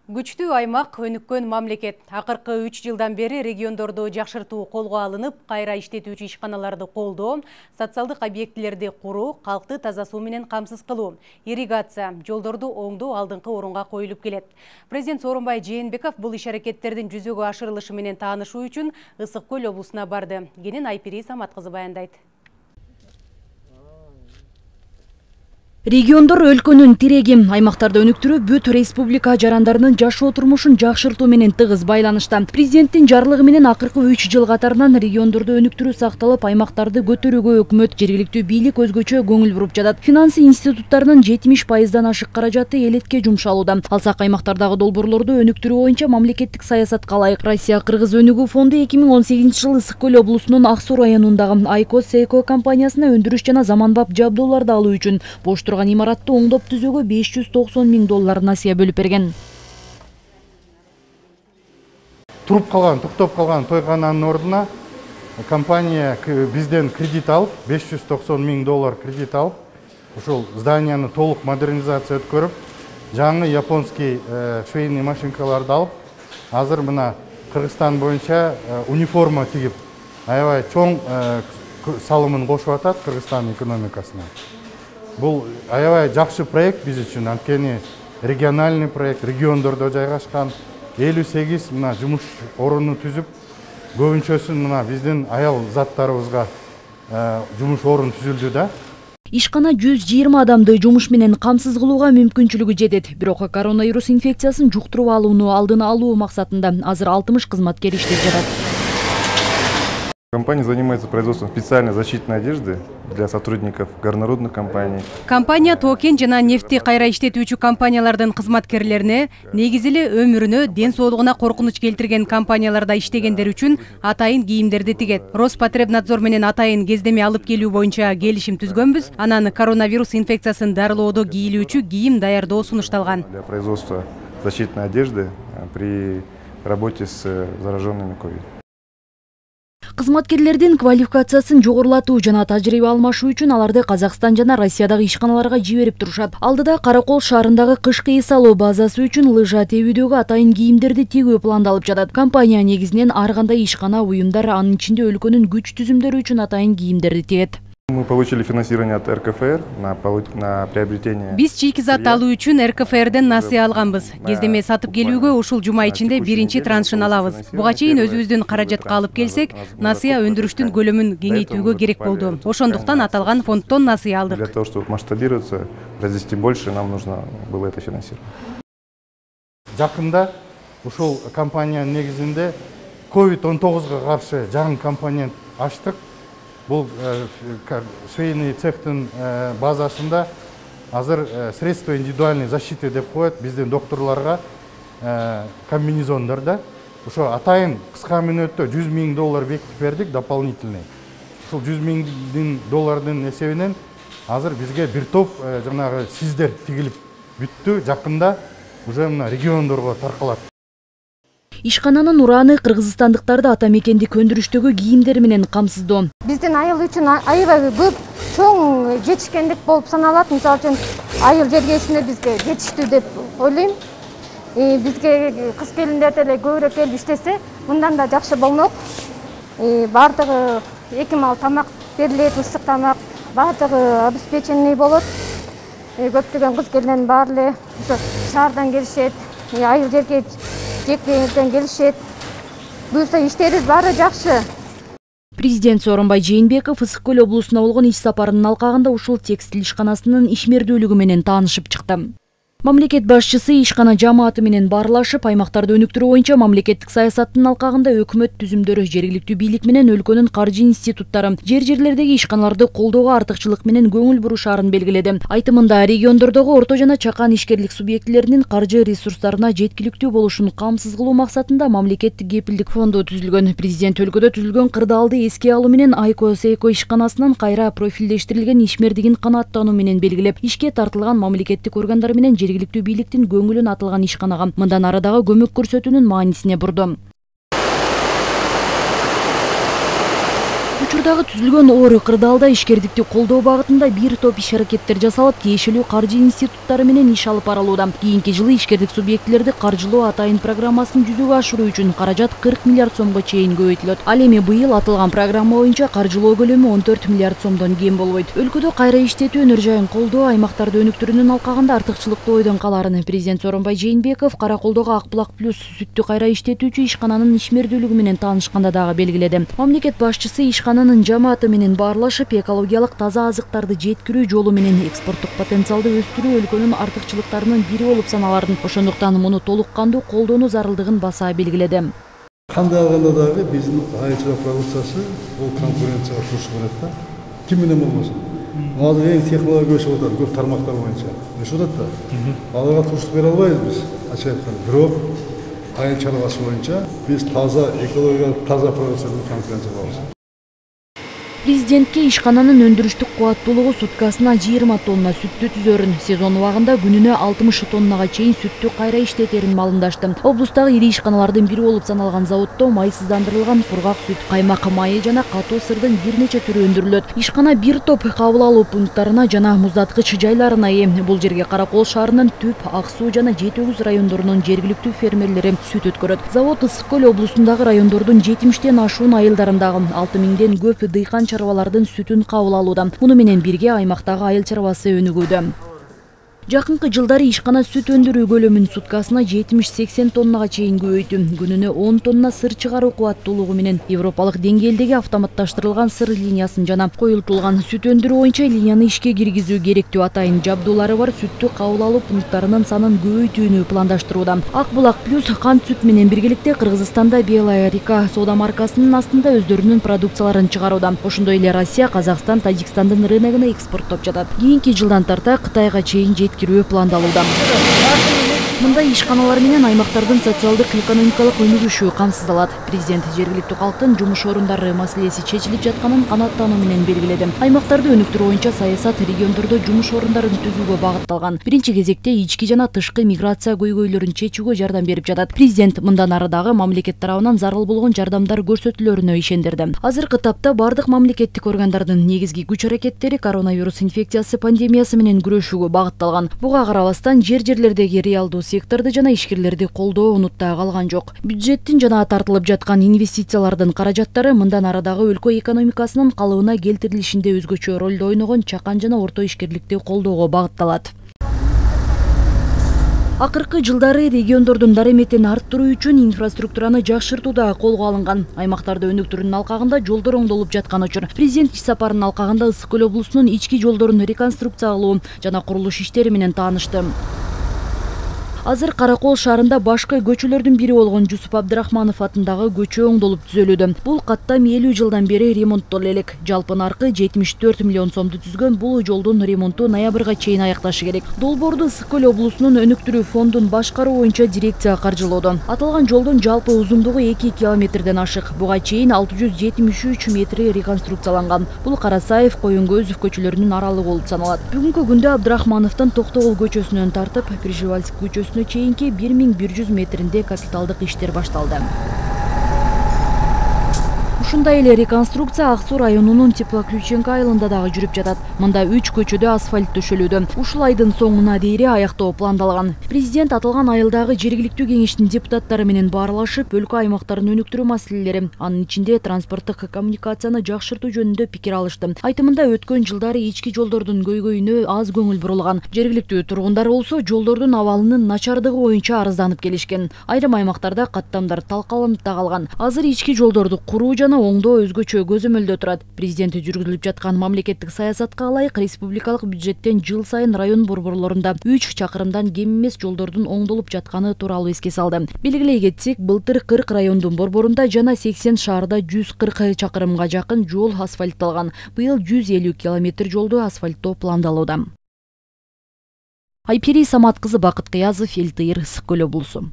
Күчтүү аймак, өнүккөн мамлекет. Акыркы 3 жылдан бери региондорду жакшыртуу колго алынып, кайра иштетүүчү ишканаларды колдоо, социалдык объектилерди куруу, калкты таза суу менен камсыз кылуу, ирригация, жолдорду оңдоо алдыңкы орунга коюлуп келет. Президент Сооронбай Жээнбеков бул иш-аракеттердин жүзөгө ашырылышы менен таанышуу үчүн Ысык Көл облусуна барды. Кенен Айпири Самат кызы баяндайт. Региондор өлкөнүн тиреги, аймактарды өнүктүрүү бүт республика жарандарынын жашоо турмушун жакшыртуу менен тыгыз байланышта. Президенттин жарлыгы менен акыркы 3 жыл катарынан региондорду өнүктүрүү сакталып, аймактарды көтөрүүгө өкмөт, жергиликтүү бийлик өзгөчө көңүл буруп жатат. Финансы институттарынын 70%дан ашык каражаты элетке жумшалууда. Алсак аймактардагы долбоорлорду өнүктүрүү боюнча мамлекеттик саясатка ылайык Россия-Кыргыз өнүгүү фонду 2018 жылы Ысык Көл облусунун Ак Суу районундагы Айко-Сейко компаниясына өндүрүш жана заманбап жабдууларды алуу үчүн бош имаратты оңдоп түзүүгө $590 000 насыя бөлүп берген. Туруп калган, токтоп калган тойкананын ордуна компания бизден кредит алып, $590 000 кредит алып, ушул зданияны толук модернизация өткөрүп, жаңы японский швейный машинкаларды алып, азыр мына Кыргызстан боюнча униформа тигип, аябай чоң салымын кошуп атат Кыргызстан экономикасына. Бул аябай жакшы проект биз үчүн, анткени региональный проект, региондордо жайгашкан 58 мына жумуш орунду түзүп, көбүнчөсүн мына биздин аял заттарыбызга жумуш орун түзүлдү да. Ишкана 120 адамды жумуш менен камсыз кылууга мүмкүнчүлүгү жетет. Бирок коронавирус инфекциясын жуктуруп алууну алдын алуу максатында азыр 60 кызматкер иштеп жатат. Компания занимается производством специальной защитной одежды для сотрудников горнорудных компаний. Компания токен жана нефти кайра иштетүүчү компаниялардын кызматкерлерине негизи эле өмүрүнө, ден соолугуна коркунуч келтирген компанияларда иштегендер үчүн атайын кийимдерди тигет. Роспотребнадзор менен атайын кездеме алып келүү боюнча келишим түзгөнбүз. Анан коронавирус инфекциясын дарылоодо кийилүүчү кийим даярдоо сунушталган. Для производства защитной одежды при работе с зараженными COVID. Кызматкерлердин квалификациясын жогорулатуу жана тажрыйба алмашуу үчүн аларды Казакстан жана Россиядагы ишканаларга жиберип турушат. Алдыда Каракол шаарындагы кышкы эс алуу базасы үчүн лыжа тебүүдөгү атайын кийимдерди тигүү пландалып жатат. Компания негизинен ар кандай ишкана, уюмдар, анын ичинде өлкөнүн күч түзүмдөрү үчүн атайын кийимдерди тигет. Мы получили финансирование от РКФР на приобретение. Биз чийки-зат алуу үчүн РКФРден насыя алганбыз. Кездеме сатып келүүгө ушул жума ичинде биринчи траншын алабыз. Буга чейин өзүбүздүн каражатка алып келсек, насыя өндүрүштүн көлөмүн кеңейтүүгө керек болду. Ошондуктан аталган фонддон насыя алдык. Для того, чтобы масштабироваться, произвести больше, нам нужно было это финансировать. Жакында ушул компаниянын негизинде COVID-19 каршы жаңы компонент ачтык. Бул швейный цехтын базасында азыр средства индивидуальной защиты деп коет биздин докторлорго комбинезондорда. Ошо атайын кыска мүнөттө $100 000 бекитип бердик дополнительный. Ушул $100 000 эсебинен азыр бизге бир топ жанагы сиздер тигилип бүттү. Жакында уже мына региондорго таркалат. Ишкананын ураны кыргызстандыктарды ата мекендик өндүрүштөгү кийимдер менен камсыздоо. Биздин айыл үчүн аябай көп чоң жетишкендик болуп саналат. Мисалы үчүн айыл жергесинде бизге жетиштүү деп ойлойм. Бизге кыз келиндер деле көбүрөөк келип иштесе, мындан да жакшы болмок. Бардыгы 2 мал тамак берилет, ысык тамак, бардыгы обеспеченный болот. Көптөгөн кыз келиндердин баары эле шаардан келишет, айыл жерге жектерден келишет. Буюрса иштерибиз баары жакшы. Президент Сооронбай Жээнбеков Ысык Көл облусуна болгон иш сапарынын алкагында ушул текстиль ишканасынын ишмердүүлүгү менен таанышып чыкты. Мамлекет башчысы ишкана жамааты менен баарлашып, аймактарды өнүктүрүү боюнча мамлекеттик саясаттын алкагында өкмөт түзүмдөрү, жергиликтүү бийлик менен өлкөнүн каржы институттары жер-жерлердеги ишканаларды колдоого артыкчылык менен көңүл бурушаарын белгиледи. Айтымында региондордогу орто жана чакан ишкерлик субъектилеринин каржы ресурстарына жеткиликтүү болушун камсыз кылуу максатында мамлекеттик кепилдик фонду түзүлгөн. Президент өлкөдө түзүлгөн кырдаалды эске алуу менен Айко-Сейко ишканасынын кайра профилдештирилген ишмердигин канааттануу менен белгилеп, ишке тартылган мамлекеттик органдар менен жергиликтүү бийликтин көңүлүн атылган ишканага мындан арадагы көмөк көрсөтүүнүн маанисине бурду. Учурдагы түзүлгөн оор кырдаалда ишкердикти колдоо багытында бир топ иш-аракеттер жасалып, тиешелүү каржы институттары менен иш алып барылууда. Кийинки жылы ишкердик субъектилерди каржылоо атайын программасын жүзөгө ашыруу үчүн каражат 40 миллиард сомго чейин көбөйтүлөт. Ал эми быйыл аталган программа боюнча каржылоо көлөмү 14 миллиард сомдон кем болбойт. Өлкөдө кайра иштетүү өнөр жайын колдоо, аймактарды өнүктүрүүнүн алкагында артыкчылыктуу ойдон каларын президент Сооронбай Жээнбеков Караколдогу Акбулак плюс сүттү кайра иштетүүчү ишкананын ишмердүүлүгү менен таанышканда дагы белгиледи. Мамлекет башчысы ишкананын жамааты менен баарлашып, экологиялык таза азыктарды жеткирүү жолу менен экспорттук потенциалды өстүрүү өлкөнүн артыкчылыктарынын бири болуп саналарын, ошондуктан муну толук кандуу колдонуу зарылдыгын баса белгиледи. Кандай алганда дагы биздин айыл продукциясы бул конкуренцияга турушу керек да. Ким менен болбосун. Азыр эң технология өсүп атат, көп тармактар боюнча. Өсүп атат да. Аларга туруштук бере албайбыз биз. Ачык айтканда, бирок айыл чарбасы боюнча биз таза экологиялык таза продукциядан конкуренция кылабыз. Президентке ишкананын өндүрүштүк кубаттуулугу суткасына 20 тонна сүттү түзөрүн, сезон убагында күнүнө 60 тоннага чейин сүттү кайра иштетерин маалымдашты. Облустагы ири ишканалардын бири болуп саналган заводдо майсыздандырылган кургак сүт, каймак майы жана катуу сырдын бир нече түрү өндүрүлөт. Ишкана бир топ кабыл алуу пункттарына жана муздаткыч жайларына ээ. Бул жерге Каракол шаарынын Түп, Ак Суу жана Жети-Өгүз райондорунун жергиликтүү фермерлери сүт өткөрөт. Завод Ысык Көл облусундагы райондордун 70тен ашуун айылдарындагы 6000ден көп дыйкан чарбалардын сүтүн кабыл алууда. Муну менен бирге аймактагы айыл чарбасы өнүгүүдө. Жакынкы жылдары ишкана сүт өндүрүү көлөмүн суткасына 70-80 тоннага чейин көбөйтү. Күнүнө 10 тонна сыр чыгаруу кубаттуулугу менен европалык деңгээлдеги автоматташтырылган сыр линиясын жана коюлтулган сүт өндүрүү боюнча линияны ишке киргизүү керектүү атайын жабдуулары бар сүттү кабыл алуу пункттарынын санын көбөйтүүнү пландаштырууда. Акбулак плюс кант сүт менен биргеликте Кыргызстанда Белая река соода маркасынын астында өздөрүнүн продукцияларын чыгарууда. Ошондой эле Россия, Казакстан, Тажикстандын рыногуна экспорттоп жатат. Кийинки жылдан тарта Кытайга чейин жеткирүү пландалууда. Мындай ишканалар менен аймактардын социалдык экономикалык өнүгүшү камсыздалат. Президент жергиликтүү калктын жумуш орундары маселеси чечилип жатканын канааттануу менен белгиледи. Аймактарды өнүктүрүү боюнча саясат региондордо жумуш орундарын түзүүгө багытталган. Биринчи кезекте ички жана тышкы миграция көйгөйлөрүн чечүүгө жардам берип жатат. Президент мындан ары дагы мамлекет тарабынан зарыл болгон жардамдар көрсөтүлөрүнө ишендирди. Азыркы тапта бардык мамлекеттик органдардын негизги күч аракеттери коронавирус инфекциясы пандемиясы менен күрөшүүгө багытталган. Буга карабастан жер-жерлердеги реалдуу секторду жана ишкерлерди колдоо унутта калган жок. Бюджеттин жана тартылып жаткан инвестициялардын каражаттары мындан ары дагы өлкө экономикасынын калыбына келтирилишинде өзгөчө ролду ойногон чакан жана орто ишкерликти колдоого багытталат. Акыркы жылдары региондордун дарыметин арттыруу үчүн инфраструктураны жакшыртууда колго алынган. Аймактарды өнүктүрүүнүн алкагында жолдор оңдолуп жаткан учур. Президент иш сапарынын алкагында Ысык Көл облусунун ички жолдорун реконструкциялоо жана курулуш иштери менен таанышты. Азыр Каракол шаарында башкы көчөлөрдүн бири болгон Жусуп Абдрахманов атындагы көчө оңдолуп түзөлүүдө. Бул каттам 50 жылдан бери ремонттоло элек. Жалпы наркы 74 миллион сомду түзгөн бул жолдун ремонту ноябрга чейин аякташы керек. Долбоорду Ысык Көл облусунун өнүктүрүү фондун башкаруу боюнча дирекция каржылоодо. Аталган жолдун жалпы узундугу 2 километрден ашык. Буга чейин 673 метри реконструкцияланган. Бул Карасаев, Коюнгөзов көчөлөрүнүн аралыгы болуп саналат. Бүгүнкү күндө Абдрахмановдун Токтогул көчөсүнөн тартып Пржевальск көчөсүнө чейинки 1100 метринде капиталдык иштер башталды. Ушундай эле реконструкция Ак Суу районунун Теплоключенко айылында дагы жүрүп жатат. Мында 3 көчөдө асфальт төшөлүүдө. Ушул айдын соңуна дейре аяктоо пландалган. Президент аталган айылдагы жергиликтүү кеңештин депутаттары менен баарлашып, өлкө аймактарын өнүктүрүү маселелери, анын ичинде транспорттук коммуникацияны жакшыртуу жөнүндө пикир алышты. Айтымында өткөн жылдары ички жолдордун көйгөйүнө аз көңүл бурулган. Жергиликтүү тургундар болсо жолдордун абалынын начардыгы боюнча арызданып келишкен. Айрым аймактарда каттамдар талкаланып да калган. Азыр ички жолдорду куруу жана оңдоо өзгөчө көзөмөлдө турат. Президент жүргүзүлүп жаткан мамлекеттик саясатка ылайык республикалык бюджеттен жыл сайын район борборлорунда 3 чакырымдан кем эмес жолдордун оңдолуп жатканы тууралуу эске салды. Белгилей кетсек, былтыр 40 райондун борборунда жана 80 шаарда 140 чакырымга жакын жол асфальтталган. Быйыл 150 километр жолду асфальттоо пландалууда. Айпери Самат кызы, Бакыт Кыязов, Эл Тыйыр, Ысык Көл облусу.